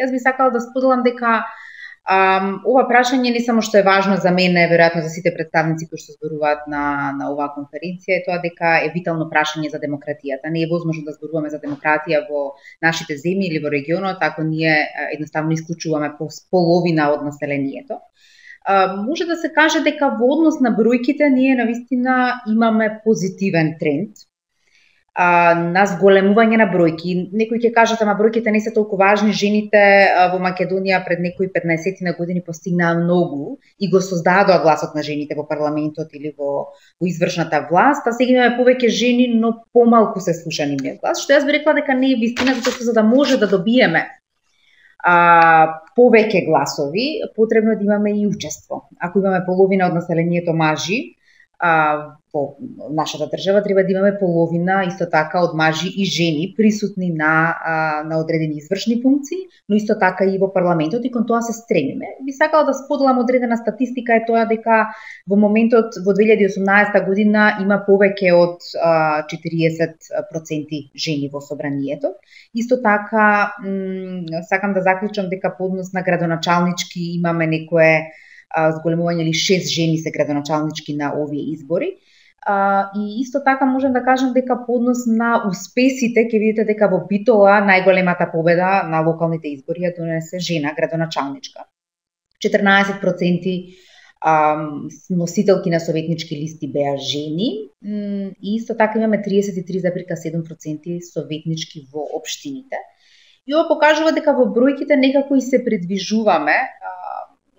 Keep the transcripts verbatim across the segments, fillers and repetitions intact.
Јас би сакала да споделам дека Um, ова прашање не само што е важно за мене, веројатно за сите представници кои што зборуваат на, на оваа конференција, е тоа дека е витално прашање за демократијата. Не е возможно да зборуваме за демократија во нашите земји или во регионот, ако ние едноставно исклучуваме половина од населението. Uh, може да се каже дека во однос на бројките ние навистина имаме позитивен тренд а, на зголемување на бројки. Некои ќе кажат, ама бројките не се толку важни, жените а, во Македонија пред некои петнаесет на години постигнаа многу и го создадоа гласот на жените во парламентот или во, во извршната власт, а сега имаме повеќе жени, но помалку се слуша нивниот глас, што јас би рекла дека не е вистина, затоа што за да може да добиеме а, повеќе гласови, потребно е да имаме и учество. Ако имаме половина од населението мажи, а, во нашата држава треба да имаме половина исто така од мажи и жени присутни на а, на одредени извршни функции, но исто така и во парламентот, и кон тоа се стремиме. Би сакала да споделам одредена статистика, е тоа дека во моментот во две илјади и осумнаесета година има повеќе од а, четириесет проценти жени во собранието. Исто така сакам да заклучам дека по однос на градоначалнички имаме некое зголемување, или шест жени се градоначалнички на овие избори. Uh, и исто така можам да кажам дека по однос на успесите ќе видите дека во Битола најголемата победа на локалните избори ја донесе жена градоначалничка. четрнаесет проценти um, носителки на советнички листи беа жени и исто така имаме триесет и три зарез и седум проценти советнички во општините. И ова покажува дека во бројките некако и се придвижуваме,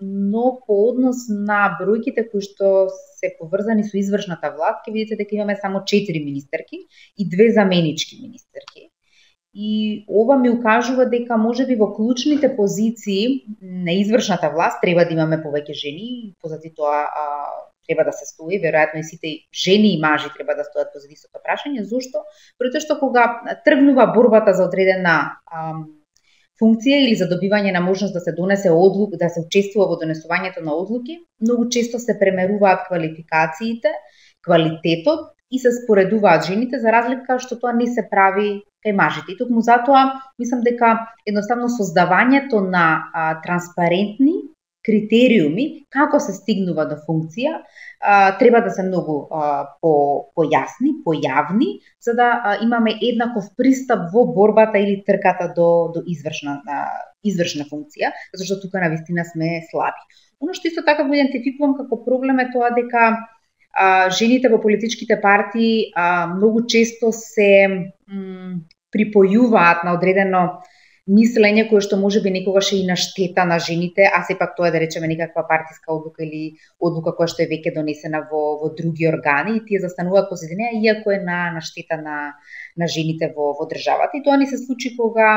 но по однос на бројките кои што се поврзани со извршната власт, ќе видите дека имаме само четири министерки и две заменички министерки. И ова ми укажува дека можеби во клучните позиции на извршната власт треба да имаме повеќе жени, позади тоа а, треба да се стои, веројатно и сите жени и мажи треба да стојат позади истото прашање. Зошто? Претоа што кога тргнува борбата за одредена ам, функција или за добивање на можност да се донесе одлука, да се учествува во донесувањето на одлуки, многу често се премеруваат квалификациите, квалитетот и се споредуваат жените, за разлика што тоа не се прави кај мажите. И токму затоа мислам дека едноставно создавањето на а, транспарентни критериуми како се стигнува до функција а, треба да се многу а, по појасни, појавни, за да а, имаме еднаков пристап во борбата или трката до до извршна а, извршна функција, зашто тука навистина сме слаби. Оно што исто така го идентификувам како проблем е тоа дека а, жените во политичките партии а, многу често се м, припојуваат на одредено мислење кое што можеби некогаш е и на штета на жените, а сепак тоа е да речеме некаква партиска одлука или одлука која што е веќе донесена во во други органи и тие застануваат позади неа, иако е на на штета на на жените во во државата. И тоа ни се случи кога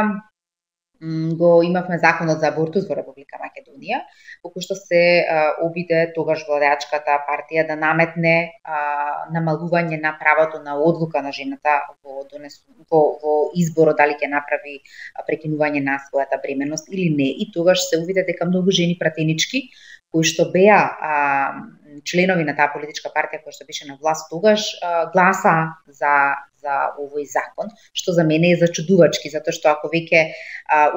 го имавме законот за абортус во Република Македонија, во кој што се а, обиде тогаш владеачката партија да наметне а, намалување на правото на одлука на жената во, донес, во, во изборот дали ќе направи прекинување на својата бременност или не. И тогаш се увиде дека многу жени пратенички кои што беа а, членови на таа политичка партија која што беше на власт тогаш а, гласа за за овој закон, што за мене е зачудувачки, затоа што ако веќе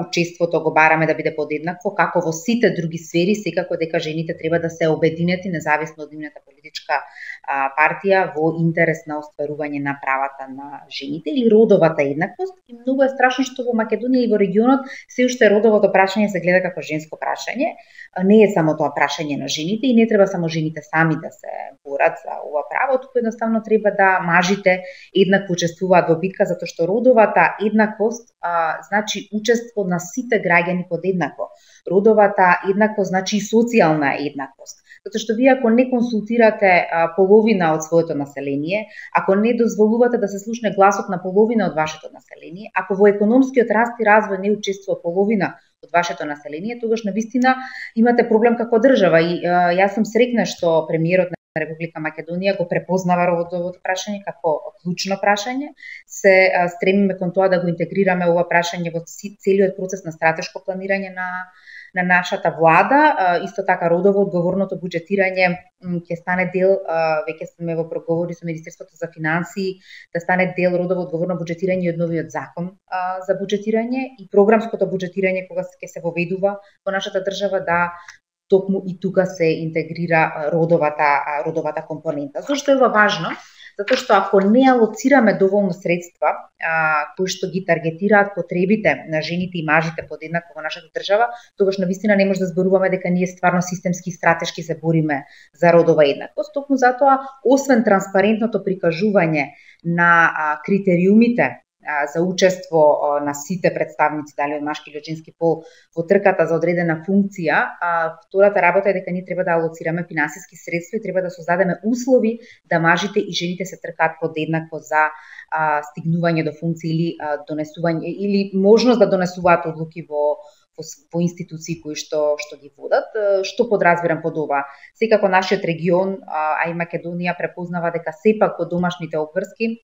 учеството го бараме да биде подеднакво, како во сите други сфери, секако дека жените треба да се обединети независно од нивната политичка а, партија во интерес на остварување на правата на жените или родовата еднаквост. И многу е страшно што во Македонија и во регионот се уште родовото прашање се гледа како женско прашање. Не е само тоа прашање на жените и не треба само жените сами да се борат за ова право, туку едноставно треба да мажите еднакво учествуваат во битка, затоа што родовата еднаквост а, значи учество на сите граѓани подеднакво. Родовата еднаквост значи и социјална еднаквост. Затоа што вие ако не консултирате а, половина од своето население, ако не дозволувате да се слушне гласот на половина од вашето население, ако во економскиот раст и развој не учествува половина од вашето население, тогаш навистина имате проблем како држава. И а, јас сум среќна што премиерот Република Македонија го препознава родовото прашање како клучно прашање. Се стремиме кон тоа да го интегрираме ова прашање во целиот процес на стратешко планирање на на нашата влада. Исто така родово одговорното буџетирање ќе стане дел, веќе сме во проговори со Министерството за финансии, да стане дел родово одговорно буџетирање од новиот закон за буџетирање и програмското буџетирање кога ќе се воведува во нашата држава, да токму и тука се интегрира родовата родовата компонента. Зошто е ова важно? Затоа што ако не алоцираме доволно средства а, кои што ги таргетираат потребите на жените и мажите подеднакво во нашата држава, тогаш навистина не може да зборуваме дека ние стварно системски и стратешки се бориме за родова еднаквост. Токму затоа, освен транспарентното прикажување на а, критериумите за учество на сите представници, дали од машки или од женски пол, во трката за одредена функција, втората работа е дека ние треба да алоцираме финансиски средства и треба да создадеме услови да мажите и жените се тркаат подеднакво за а, стигнување до функции или а, донесување или можност да донесуваат одлуки во во, во институции кои што што ги водат. Што подразбирам под ова? Секако нашиот регион, а и Македонија препознава дека сепак во домашните обврски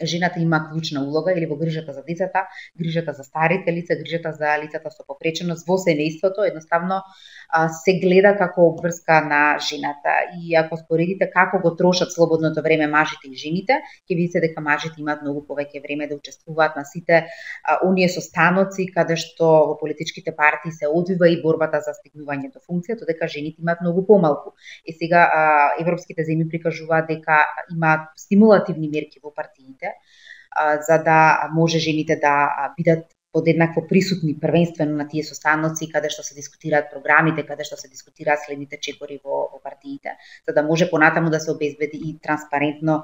жената има клучна улога или во грижата за децата, грижата за старите лица, грижата за лицата со попреченост во семејството, едноставно се гледа како обврска на жената. И ако споредите како го трошат слободното време мажите и жените, ќе видите дека мажите имаат многу повеќе време да учествуваат на сите оние состаноци каде што во политичките партии се одвива и борбата за стигнување до функција, додека жените имаат многу помалку. И сега европските земји прикажуваат дека имаат стимулативни мерки во партиите за да може жените да бидат подеднакво присутни првенствено на тие состаноци каде што се дискутираат програмите, каде што се дискутираат следните чекори во, во партиите, за да може понатаму да се обезбеди и транспарентно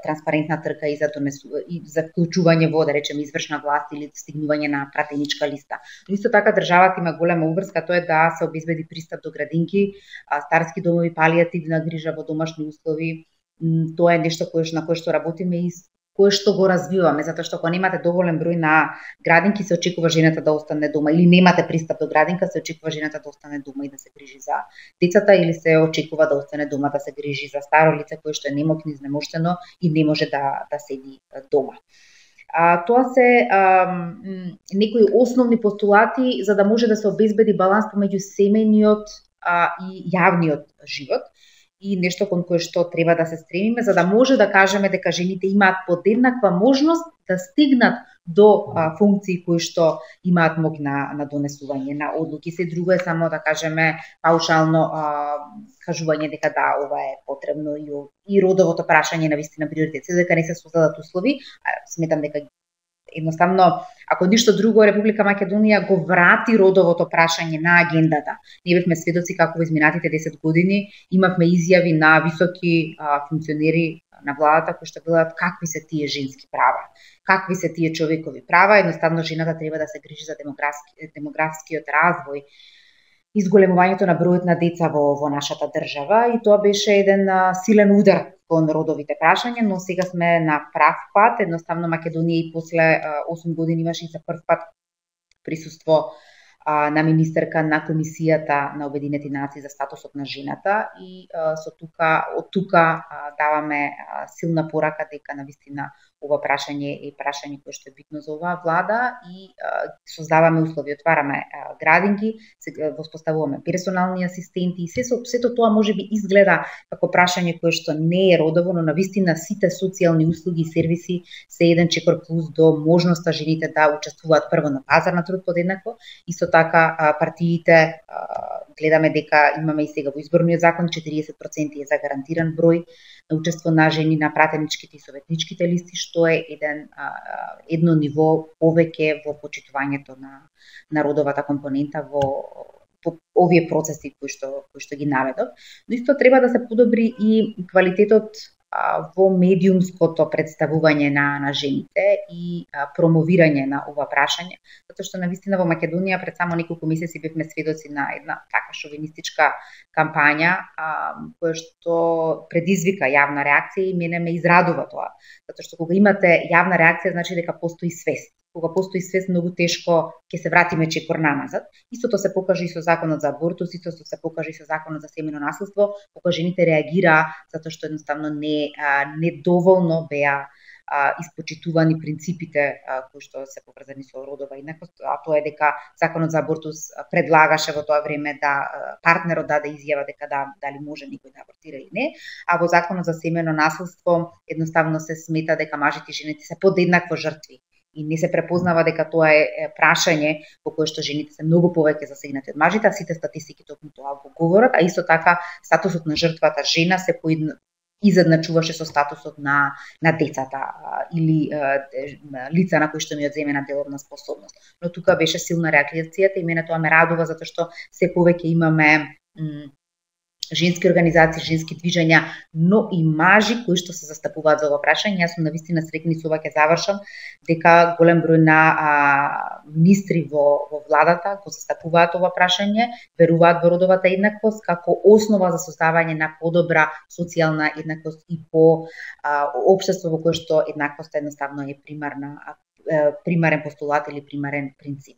транспарентна трка и за донесу, и за вклучување во, да речеме, извршна власт или стигнување на пратеничка листа. Но исто така државата има голема обврска, тоа е да се обезбеди пристап до градинки, старски домови, палијативна грижа во домашни услови. Тоа е нешто кое на кое што работиме и кое што го развиваме, затоа што ако немате доволен број на градинки, се очекува жената да остане дома, или немате пристап до градинка, се очекува жената да остане дома и да се грижи за децата, или се очекува да остане дома да се грижи за старо лице кое што е немокно, изнемоштено и не може да да седи дома. А, тоа се а, некои основни постулати за да може да се обезбеди баланс помеѓу семејниот а, и јавниот живот, и нешто кон кое што треба да се стремиме, за да може да кажеме дека жените имаат подеднаква можност да стигнат до а, функции кои што имаат моќ на, на донесување на одлуки. Се друго е само да кажеме паушално а, кажување дека да, ова е потребно и, и родовото прашање на вистина приоритет. Се дека не се создадат услови, сметам дека едноставно, ако ништо друго, Република Македонија го врати родовото прашање на агендата. Ние бевме сведоци како во изминатите десет години имавме изјави на високи а, функционери на владата кои што велат какви се тие женски права, какви се тие човекови права, едноставно жената треба да се грижи за демографски, демографскиот развој, изголемувањето на бројот на деца во, во нашата држава, и тоа беше еден а, силен удар кон родовите прашања, но сега сме на прав пат. Едноставно Македонија и после осум години имаше и за прв пат присуство а, на министерка на Комисијата на Обединети нации за статусот на жената, и а, со тука од тука а, даваме а, силна порака дека навистина ова прашање е прашање кое што е битно за оваа влада, и а, создаваме услови, отвараме а, градинки, воспоставуваме персонални асистенти, и се сето тоа можеби изгледа како прашање кое што не е родово, но навистина сите социјални услуги и сервиси се еден чекор плюс до можноста жените да учествуваат прво на пазар на труд подеднакво. Исто така а, партиите а, гледаме дека имаме и сега во изборниот закон четириесет проценти е за гарантиран број на учество на жени на пратеничките и советничките листи, што е еден а, едно ниво повеќе во почитувањето на на родовата компонента во, во овие процеси кои што кои што ги наведов. Но исто треба да се подобри и квалитетот а, во медиумското представување на на жените и а, промовирање на ова прашање, затоа што навистина во Македонија пред само неколку месеци бевме сведоци на една така шовинистичка кампања а, која што предизвика јавна реакција, и мене ме израдува тоа, затоа што кога имате јавна реакција значи дека постои свест кога постои свест, многу тешко ќе се вратиме чекор наназад. Истото се покажа и со законот за абортус, истото се покажа и со законот за семено насилство, кога жените реагираа затоа што едноставно не недоволно беа а, испочитувани принципите а, кои што се поврзани со родова еднаквост, а тоа е дека законот за абортус предлагаше во тоа време да партнерот даде изјава дека да дали може некој да абортира или не, а во законот за семено насилство едноставно се смета дека мажите и жените се подеднакво жртви и не се препознава дека тоа е прашање во кое што жените се многу повеќе засегнати од мажите, а сите статистики токму тоа го говорат, а исто така статусот на жртвата жена се поедна изедначуваше со статусот на на децата а, или а, лица на кои што ми одземена деловна способност. Но тука беше силна реакцијата и мене тоа ме радува затоа што се повеќе имаме женски организации, женски движења, но и мажи кои што се застапуваат за ова прашање. Јас сум навистина среќна и со ова ќе завршам дека голем број на а, министри во во владата го застапуваат ова прашање, веруваат во родовата еднаквост како основа за создавање на подобра социјална еднаквост и по а, општество во кое што еднаквоста едноставно е примарна примарен постулат или примарен принцип.